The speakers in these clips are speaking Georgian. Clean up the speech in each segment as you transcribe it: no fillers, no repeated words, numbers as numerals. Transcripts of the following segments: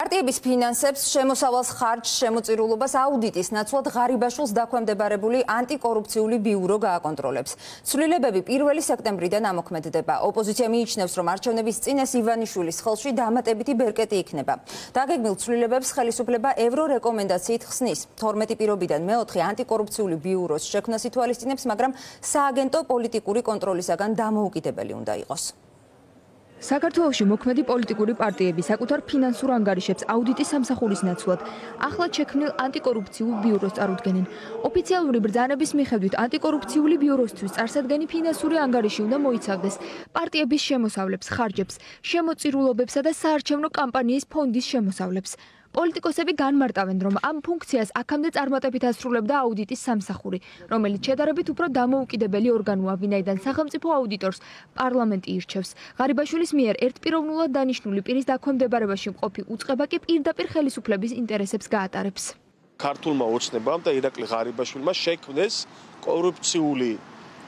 პარტიების ფინანსებს, შემოსავალს, ხარჯს, შემოწირულობას აუდიტის ნაცვლად ღარიბაშვილს დაქვემდებარებული ანტიკორუფციული ბიურო გააკონტროლებს. ცვლილებები 1 სექტემბრიდან ამოქმედდება. ოპოზიცია მიიჩნევს, რომ არჩევნების წინ ეს ივანიშვილის ხელში დამატებითი ბერკეტი იქნება. დაგეგმილ ცვლილებებს ხელისუფლება ევრორეკომენდაციით ხსნის. 12 პირობიდან მეოთხე ანტიკორუფციული ბიუროს შექმნას ითვალისწინებს, მაგრამ სააგენტო პოლიტიკური კონტროლისაგან დამოუკიდებელი უნდა იყოს. საქართველოში მოქმედი პოლიტიკური პარტიები საკუთარ ფინანსურ ანგარიშებს აუდიტის სამსახურის ნაცვლად ახლად შექმნილ ანტიკორუფციულ ბიუროს წარუდგენენ. ოფიციალური ბრძანების მიხედვით ანტიკორუფციული ბიუროსთვის წარსადგენი ფინანსური ანგარიში უნდა მოიცავდეს პარტიების შემოსავლებს, ხარჯებს, შემოწირულობებსა და საარჩევნო კამპანიის ფონდის შემოსავლებს. პოლიტიკოსები განმარტავენ, რომ ამ ფუნქციას აქამდე წარმატებით ასრულებდა აუდიტის სამსახური, რომელიც შედარებით უფრო დამოუკიდებელი ორგანოა, ვინაიდან სახელმწიფო აუდიტორს პარლამენტი ირჩევს. ღარიბაშვილის მიერ ერთპიროვნულად დანიშნული პირის დაქვემდებარებაში მყოფი უწყება კი პირდაპირ ხელისუფლების ინტერესებს გაატარებს. ქართულმა ოცნებამ და ირაკლი ღარიბაშვილმა შექმნეს კორუფციული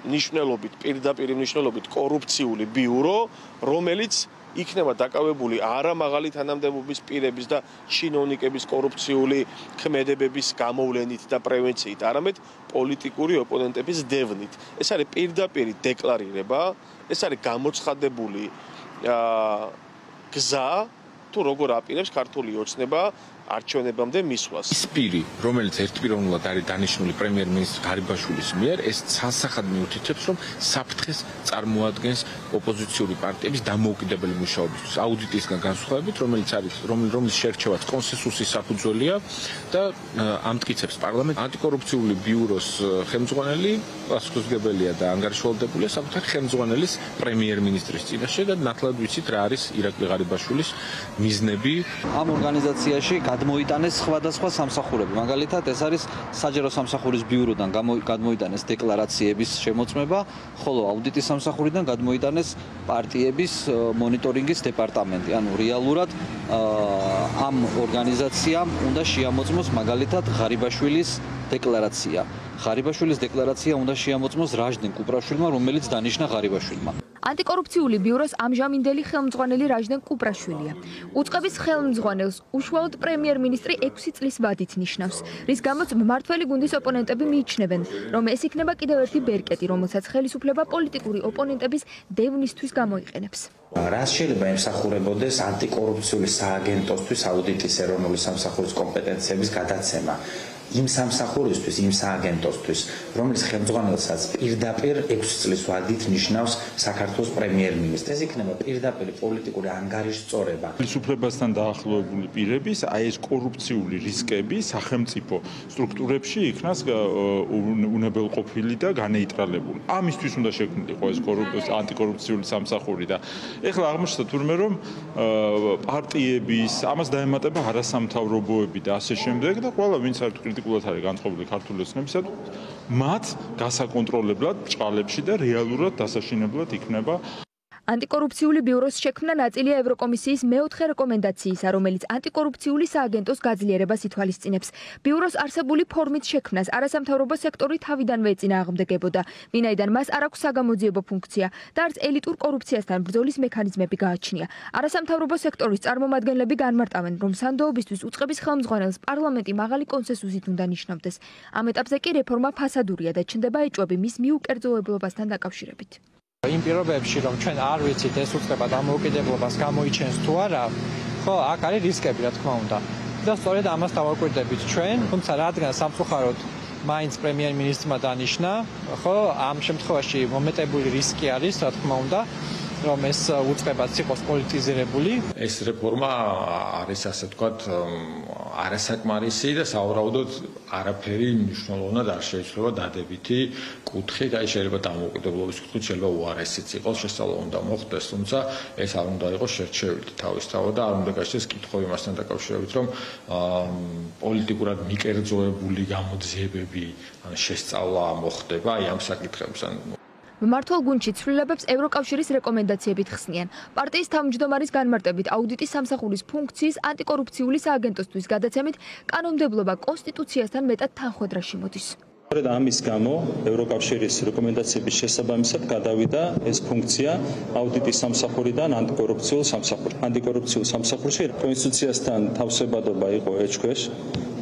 ნიშნულობით, პირდაპირ ნიშნულობით კორუფციული ბიურო, რომელიც იქნება დაკავებული არა მაღალი თანამდებობის პირების და ჩინოვნიკების კორუფციული ქმედებების გამოვლენით და პრევენციით, არამედ პოლიტიკური ოპონენტების დევნით. ეს არის პირდაპირი დეკლარირება, ეს არის გამოცხადებული გზა, თუ როგორ აპირებს ქართული ოცნება არჩევნებამდე მისვლას. ის პირი, რომელიც ერთპიროვნულად არის დანიშნული პრემიერ-მინისტრ ღარიბაშვილის მიერ, ეს ცალსახად მიუთითებს, რომ საფრთხეს წარმოადგენს ოპოზიციური პარტიების დამოუკიდებელი მუშაობისთვის. აუდიტისგან განსხვავებით, რომლის შერჩევაც კონსენსუსის საფუძველია და ამტკიცებს პარლამენტს, ანტიკორუფციული ბიუროს ხელმძღვანელი პასუხისმგებელია და ანგარიშვალდებულია საკუთარი ხელმძღვანელის პრემიერ-მინისტრის წინაშე და ნათლად ვიცით რა არის ირაკლი ღარიბაშვილის მიზნები. ამ ორგანიზაციაში გადმოიტანეს სხვადასხვა სამსახურები. მაგალითად, ეს არის საჯარო სამსახურის ბიუროდან გადმოიტანეს დეკლარაციების შემოწმება, ხოლო აუდიტის სამსახურიდან გადმოიტანეს პარტიების მონიტორინგის დეპარტამენტი. ანუ რეალურად ამ ორგანიზაციამ უნდა შეამოწმოს მაგალითად ღარიბაშვილის დეკლარაცია. ღარიბაშვილის დეკლარაცია უნდა შეამოწმოს რაჟდენ კუპრაშვილმა, რომელიც დანიშნა ღარიბაშვილმა. ანტიკორუფციული ბიუროს ამჟამინდელი ხელმძღვანელი რაჟდენ კუპრაშვილია. უწყების ხელმძღვანელს უშუალოდ პრემიერ-მინისტრი 6 წლის ვადით ნიშნავს, რის გამოც მმართველი გუნდის ოპონენტები მიიჩნევენ, რომ ეს იქნება კიდევ ერთი ბერკეტი, რომელსაც ხელისუფლება პოლიტიკური ოპონენტების დევნისთვის გამოიყენებს. რას შეიძლება ემსახურებოდეს ანტიკორუფციული სააგენტოსთვის აუდიტის ეროვნული სამსახურის კომპეტენციების გადაცემა. იმ სამსახურისთვის, იმ სააგენტოსთვის, რომელიც ხელმძღვანელსაც პირდაპირ 6 წლის ვადით ნიშნავს საქართველოს პრემიერ-მინისტრი. ეს იქნება პირდაპირ პოლიტიკური ანგარიშწორება. ხელისუფლებასთან დაახლოებული პირების ეს კორუფციული რისკები სახელმწიფო სტრუქტურებში იქნას უნებელყოფილი და განეიტრალებული. ამისთვის უნდა შექმნილიყო ეს ანტიკორუფციული სამსახური და ეხლა აღმოჩნდა თურმე რომ პარტიების ამას დაემატება არასამთავრობოები და ასე შემდეგ და ყველა ვინც არის კრიტიკულად არის განწყობილი ქართული ოცნებისათვის, მათ გასაკონტროლებლად ბრჭყალებში და რეალურად დასაშინებლად იქნება. ანტიკორუფციული ბიუროს შექმნა ნაწილია ევროკომისიის მეოთხე რეკომენდაციისა, რომელიც ანტიკორუფციული სააგენტოს გაძლიერებას ითვალისწინებს. ბიუროს არსებული ფორმით შექმნას არასამთავრობო სექტორი თავიდანვე ეწინააღმდეგებოდა, ვინაიდან მას არ აქვს საგამოძიებო ფუნქცია და არც ელიტურ კორუფციასთან ბრძოლის მექანიზმები გააჩნია. არასამთავრობო სექტორის წარმომადგენლები განმარტავენ, რომ სანდოობისთვის უწყების ხელმძღვანელს პარლამენტი მაღალი კონსენსუსით უნდა ნიშნავდეს. ამ ეტაპზე კი რეფორმა ფასადურია და ჩნდება ეჭვები მის მიუკერძოებლობასთან დაკავშირებით. იმ პირობებში, რომ ჩვენ არ ვიცით ეს უწყება დამოუკიდებლობას გამოიჩენს თუ არა, ხო, აქ არის რისკები, რა თქმა უნდა. და სწორედ ამას დავაკვირდებით ჩვენ, თუმცა რადგან სამწუხაროდ მაინც პრემიერ-მინისტრმა დანიშნა, ხო, ამ შემთხვევაში მომეტებული რისკი არის, რა თქმა უნდა, რომ ეს უწყებაც იყოს პოლიტიზირებული. ეს რეფორმა არის ასე ვთქვათ არასაკმარისი და სავარაუდოდ არაფერი მნიშვნელოვნად არ შეიცვლება დადებითი კუთხით, აი შეიძლება დამოუკიდებლობის კუთხით შეიძლება უარესიც იყოს, შესწავლა უნდა მოხდეს, თუმცა ეს არ უნდა იყოს შერჩევილი თავისთავად და არ უნდა გაჩნდეს კითხვები მასთან დაკავშირებით, რომ პოლიტიკურად მიკერძოებული გამოძიებები ან შესწავლა მოხდება აი ამ საკითხებს. მმართველ გუნდში ცვლილებებს ევროკავშირის რეკომენდაციებით ხსნიან. პარტიის თავმჯდომარის განმარტებით აუდიტის სამსახურის ფუნქციის ანტიკორუფციული სააგენტოსთვის გადაცემით კანონმდებლობა კონსტიტუციასთან მეტად თანხვედრაში მოდის. ამის გამო ევროკავშირის რეკომენდაციების შესაბამისად გადავიდა ეს ფუნქცია აუდიტის სამსახურიდან ანტიკორუფციულ სამსახურში. ანტიკორუფციულ სამსახურში კონსტიტუციასთან თავსებადობა იყო ეჭქვეშ,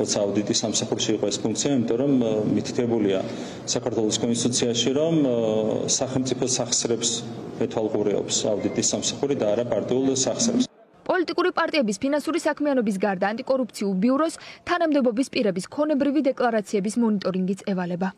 როცა აუდიტის სამსახურში იყო ეს ფუნქცია, იმიტომ რომ მითითებულია საქართველოს კონსტიტუციაში, რომ სახელმწიფო სახსრებს ეთვალყურეობს აუდიტის სამსახური და არა პარტიულ სახსრებს. პოლიტიკური პარტიების ფინანსური საქმიანობის გარდა ანტიკორუფციულ ბიუროს თანამდებობის პირების ქონებრივი დეკლარაციების მონიტორინგიც ევალება.